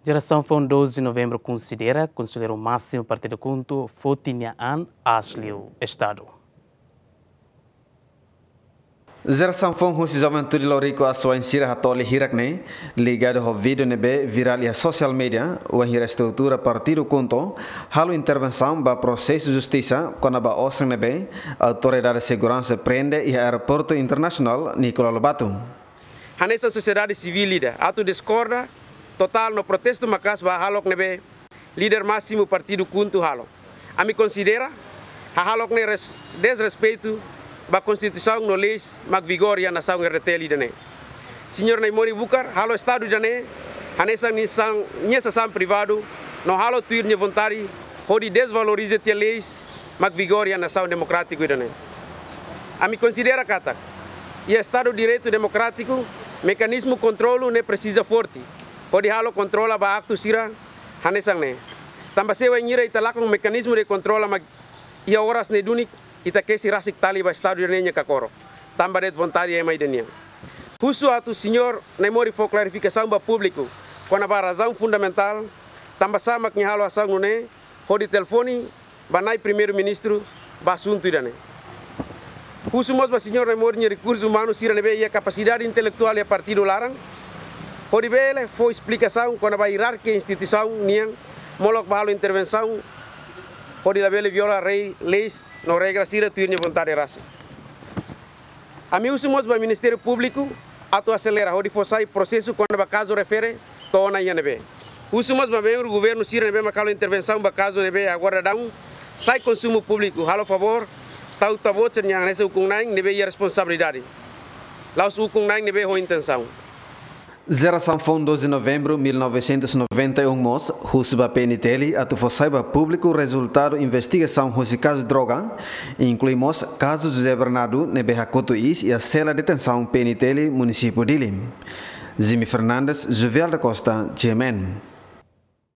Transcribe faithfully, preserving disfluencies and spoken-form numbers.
Jerasaun Foun doze Novembru konsidera Konselleiru Másimu Partidu KHUNTO foti nia an aas liu Estadu. Jerasaun Foun husi juventude Lauriku Aswain sira hatoli hirak ne'e, ligadu ho vídeo ne'ebé virál iha sosiál media, wainhira estrutura Partidu KHUNTO halo intervensaun ba prosesu justisa kona-ba osan ne'ebé Autoridade Seguransa prende iha Aeroportu Internasionál Nicolau Lobato. Hanesan sosiedade sivíl ida atu diskorda totál no protestu maka'as ba hahalok ne'ebé líder másimu Partidu KHUNTO halo. Ami konsidera hahalok ne'e res-, desrespeitu ba Konstituisaun no leis mak vigora iha nasaun R D T L ida-ne'e. Señór Naimori Bucar halo Estadu ida-ne'e hanesan nia sasán, nia sasán privadu no halo tuir nia vontade hodi desvaloriza tiha leis mak vigora iha nasaun demokrátiku ida-ne'e. Ami konsidera katak iha Estadu Direitu Demokrátiku, mekanizmu kontrolu ne'e presiza forte hodi halo kontrola ba aktu sira hanesan ne'e. Tanba se wainhira ita lakon mekanizmu de kontrola mak iha oras ne'e duni, ita kesi rasik tali ba Estadu ida-ne'e nia kakoro, tanba de'it vontade ema ida nian. Husu atu Señór Naimori fó klarifikasaun ba públiku kona-ba razaun fundamentál tanbasá mak nia halo asaun nune'e, hodi telefone ba Na'i Primeiru-Ministru ba asuntu ida-ne'e. Husu mós ba Señór Naimori nia rekursu umanu sira ne'ebé iha kapasidade intelektuál iha partidu laran, hodi bele fó esplikasaun kona-ba ierarkia instituisaun nian, molok ba halo intervensaun hodi labele viola rei, leis no regra sira tuir nia vontade rasik. Ami husu mós ba Ministériu Públiku atu aselera hodi fó sai prosesu kona-ba kazu refere to'o ona iha ne'ebé. Husu mós ba membru governu sira ne'ebé mak halo intervensaun ba kazu ne'ebé agora daudaun sai konsumu públiku, halo favór tau Tabocer nian hanesan ukun-na'in ne'ebé iha responsabilidade, la'ós ukun-na'in ne'ebé ho intensaun. Jerasaun Foun doze Novembru mil novecentos e noventa e um mós husu ba P N T L atu fó sai ba públiku rezultadu investigasaun husi kazu droga, inklui mós kazu José Bernardo ne'ebé hakotu iis iha sela detensaun P N T L Munisípiu Dili. Jimmy Fernandes, Juvial da Costa, G M N.